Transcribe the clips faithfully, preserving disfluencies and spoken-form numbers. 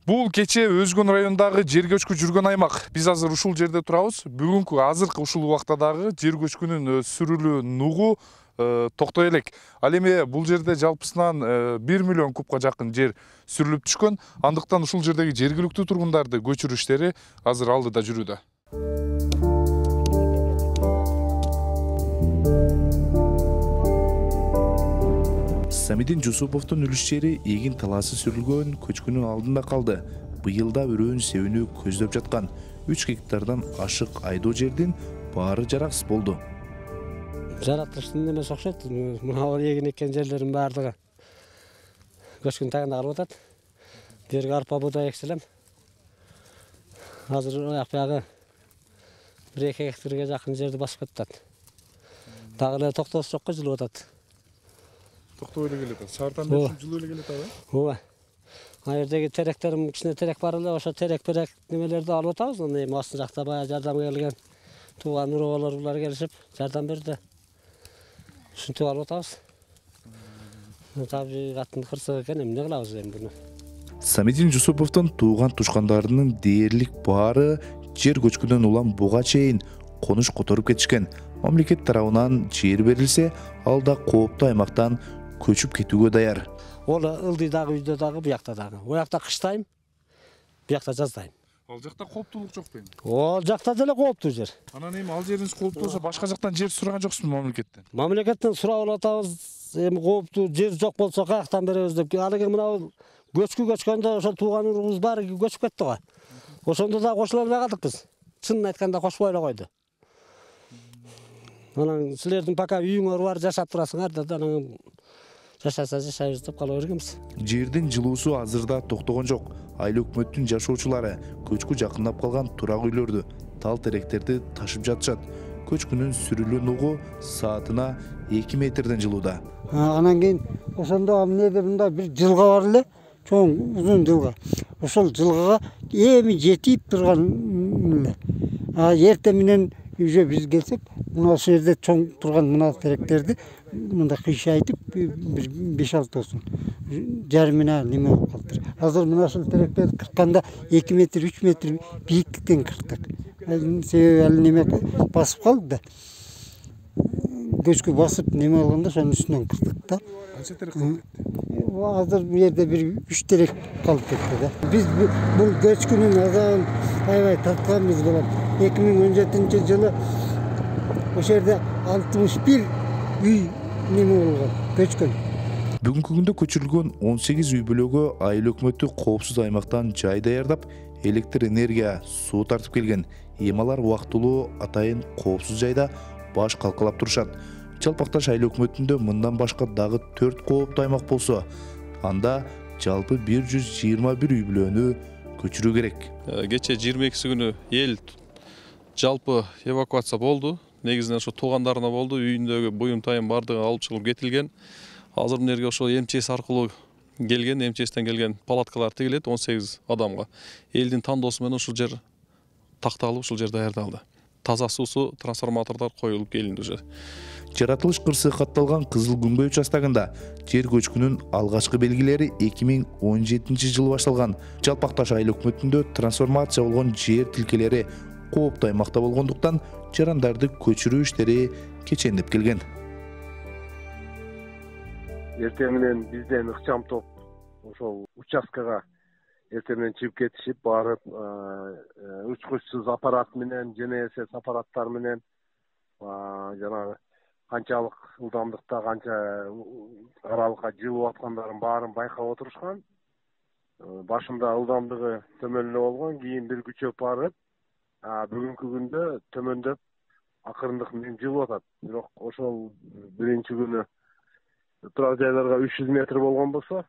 Бул кечээ Өзгөн районундагы жер көчкү жүргөн аймак. Биз азыр ушул жерде турабыз. Бүгүнкү азыркы ушул убактадагы жер көчкүнүн сүрүлүү нугу токтой элек. Ал эми бул жерде жалпысынан бир миллион кубка жакын жер сүрүлүп түшкөн. Андыктан ушул жердеги жергиликтүү тургундарды көчүрүү иштери азыр алдыда жүрүүдө. Самидин Жусуповдун үлүш жери эгин талаасы сүрүлгөн көчкүнүн алдында калды. Быйылда өрөөн себүүнү көздөп жаткан үч гектардан ашык айдоо жердин баары жараксыз болду. Жаратылыштын эмеси окшойт. Мына эгин эккен жерлердин баардыгы көчкүнүн тагында калып атат. Жерге арпа буудай эксе элем. Азыр аяк биягы бир эки гектарга жакын жерди басып кетет. Дагы эле токтоосу жокко жылып атат. Токтой эле келет. Шаардан бери жылуу эле келет абы. Ооба. Ана жердеги теректерим кичине терек бар эле, ошо терек берек немелерди алып атабыз. Аны эми астын жакта баягы жардамга келген тууган уроолор булар келишип жардам берди. Ушинтип алып атабыз. Табигаттын кырсыгы экен, эмне кылабыз эми буну? Самидин Жусуповдун тууган тушкандарынын дээрлик баары жер көчкүнөн улам буга чейин конуш которуп кетишкен. Мамлекет тарабынан жер берилсе, ал да кооптуу аймактан көчүп кетүүгө даяр. Ол ылдыйдагы үйдө дагы, буякта дагы. Буякта кыштайм, буякта жаздайм. Ал жакта кооптуулук жок бейин? Ол жакта деле кооптуу жер. Анан эми ал жериңиз кооптуу болсо, башка жактан жер сураган жоксузбу мамлекеттен? Мамлекеттен сурап атабыз, эми кооптуу жер жок болсо каяктан беребиз деп. Алыгы мына көчкү көчкөндө ошол тууган урубуз баары көчүп кетти го. Ошондо да кошула албай калдык биз. Чынын айтканда кошпой эле койду. Анан силердин пока үйүңөр бар, жашап турасыңар да, анан жашаса жашайбыз деп кала бергенбиз. Жердин жылуусу азырда токтогон жок. Айыл өкмөттүн жашоочулары көчкү жакындап калган турак үйлөрдү, тал теректерди ташып жатышат. Көчкүнүн сүрүлүү нугу саатына эки метрден жылууда. Анан кийин ошондо эмнеде мындай бир жылга бар эле, чоң узун жылга. Ошол жылгага эми жетип турган эле. А эртең менен уже биз келсек, мына ошол жерде чоң турган мына теректерди мындай кыйшайтып бир беш алтысын жарымына неме болуп калды. Азыр мына ушул теректерди кыркканда эки метр, үч метр бийиктиктен кырктык. Себеби ал неме басып калды да. Көчкү басып неме болгондо ошонун үстүнөн кырктык да. Канча терек калып кетти? Азыр бу жерде бир үч терек калып кетти да. Биз бул көчкүнүн азабын аябай тартканбыз болот. эки миң он жетинчи жылы ошол жерде алтымыш бир үй неме болгон, көчкөн. Бүгүнкү күндө көчүрүлгөн он сегиз үй бүлөгө айыл өкмөтү коопсуз аймактан жай даярдап, электр энергия, суу тартып келген. Эми алар убактылуу атайын коопсуз жайда баш калкалап турушат. Жалпакташ айыл өкмөтүндө мындан башка дагы төрт кооптуу аймак болсо, анда жалпы бир жүз жыйырма бир үй бүлөнү көчүрүү керек. Кечээ жыйырма экиси күнү эл жалпы эвакуация болду. Негизинен ошо туугандарына болду. Үйүндөгү буюм тайым бардыгы алып чыгылып кетилген. Азыр мынерге ошо МЧС аркылуу келген, МЧСтен келген палаткалар тигилет он сегиз адамга. Элдин тандоосу менен ушул жер такталып, ушул жер даярдалды. Таза суусу трансформатордор коюлуп келинди уже. Жаратылыш кырсыгы катталган Кызыл Күмбөй участогунда жер көчкүнүн алгачкы белгилери эки миң он жетинчи жылы башталган. Жалпакташ айыл өкмөтүндө трансформация болгон жер тилкелери кооптуу аймакта болгондуктан жарандарды көчүрүү иштери кечендеп келген. Эртең менен бизден ыкчам топ ошол участкага эртең менен чыгып кетишип, барып учкучсуз аппарат менен, ЖНСС аппараттар менен жанагы канчалык ылдамдыкта, канча аралыкка жылып аткандарын баарын байкап отурушкан. Башында ылдамдыгы төмөн эле болгон, кийин бир күчөп барып, бүгүнкү күндө төмөндөп акырындык менен жылып атат. Бирок ошол биринчи күнү турак жайларга үч жүз метр болгон болсо,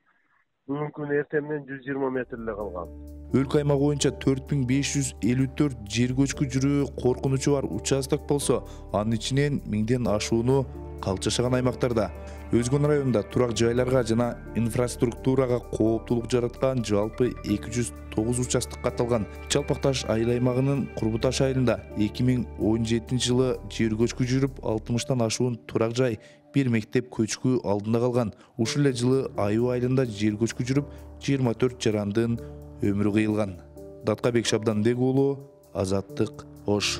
бүгүнкү күнү эртең менен жүз жыйырма метр эле калган. Өлкө аймагы боюнча төрт миң беш жүз элүү төрт жер көчкү жүрүү коркунучу бар участок болсо, анын ичинен миңден ашууну калк жашаган аймактарда. Өзгөн районунда турак жайларга жана инфраструктурага кооптуулук жараткан жалпы эки жүз тогуз участок катталган. Жалпакташ айыл аймагынын Курбуташ айылында эки миң он жетинчи жылы жер көчкү жүрүп, алтымыштан ашуун турак жай, бир мектеп көчкү алдында калган. Ушул эле жылы Айуу айылында жер көчкү жүрүп, жыйырма төрт жарандын өмүрү кыйылган. Даткабек Шабданбек уулу, Азаттык, Ош.